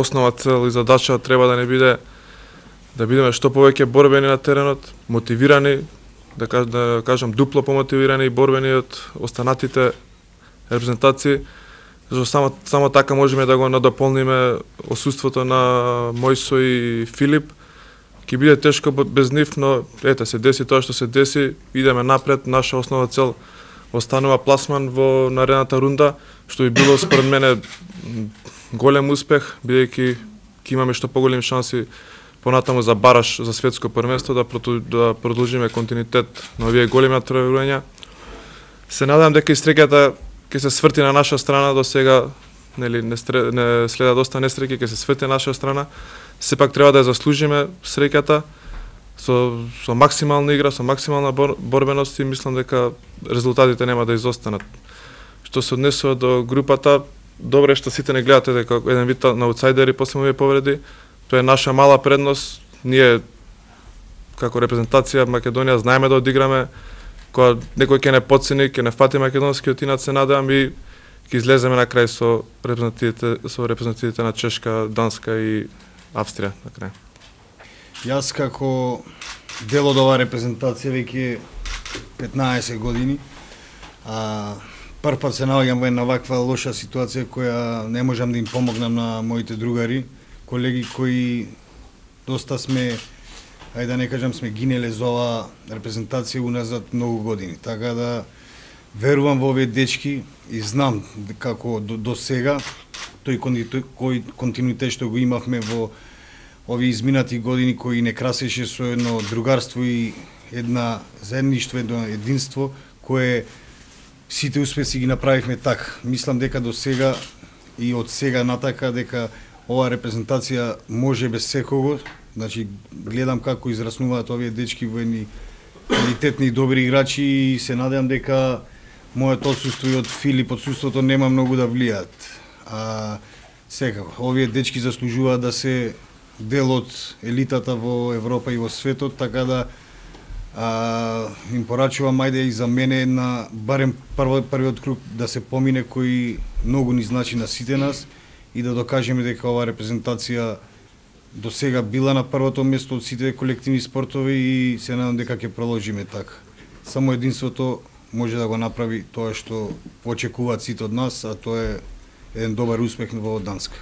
основна цел и задача треба да не биде да бидеме што повеќе борбени на теренот, мотивирани, да кажам дупло помотивирани и борбени од останатите репрезентации, зашто само така можеме да го надополниме отсуството на Мојсо и Филип. Ќе биде тешко без нив, но ете се деси тоа што се деси, идеме напред, наша основна цел останува пласман во наредната рунда, што би било според мене голем успех, бидејќи ќе имаме што поголеми шанси понатаму за бараш за светско првенство да продолжиме континуитет на овие големи натпреварувања. Се надам дека и среќата ќе се сврти на наша страна, до сега нели не следа доста несреќи, ќе се сврти на наша страна. Сепак треба да ја заслужиме среќата со максимална игра, со максимална борбеност и мислам дека резултатите нема да изостанат. Што се однесува до групата, добре што сите не гледате дека еден вид на аутсайдери после овие повреди. Тоа е наша мала предност. Ние како репрезентација Македонија знаеме да одиграме, кога некој ќе не подцени, ќе не фати македонскиот инат, се надевам и ќе излеземе на крај со репрезентативите на Чешка, Данска и Австрија на крај. Јас како дел од оваа репрезентација веќе 15 години, прв пат се наоѓам во една ваква лоша ситуација која не можам да им помогнам на моите другари, колеги кои доста сме, ајде да не кажам, сме гинеле за оваа репрезентација уназад многу години. Така да верувам во овие дечки и знам како до сега тој континуитет што го имавме во овие изминати години кои не красеше со едно другарство и една заедништво, едно единство кое сите успеси ги направивме така. Мислам дека до сега и од сега натака дека оваа репрезентација може без секого. Значи гледам како израснуваат овие дечки во едни квалитетни и добри играчи и се надевам дека моето отсуство и од Филип отсуството нема многу да влијаат. Секако овие дечки заслужуваат да се дел од елитата во Европа и во светот, така да им порачувам ајде и за мене на барем првиот круг да се помине кој многу ни значи на сите нас и да докажеме дека оваа репрезентација до сега била на првото место од сите колективни спортови и се надам дека ќе продолжиме така. Само единството може да го направи тоа што очекуваат сите од нас, а тоа е еден добар успех во Данска.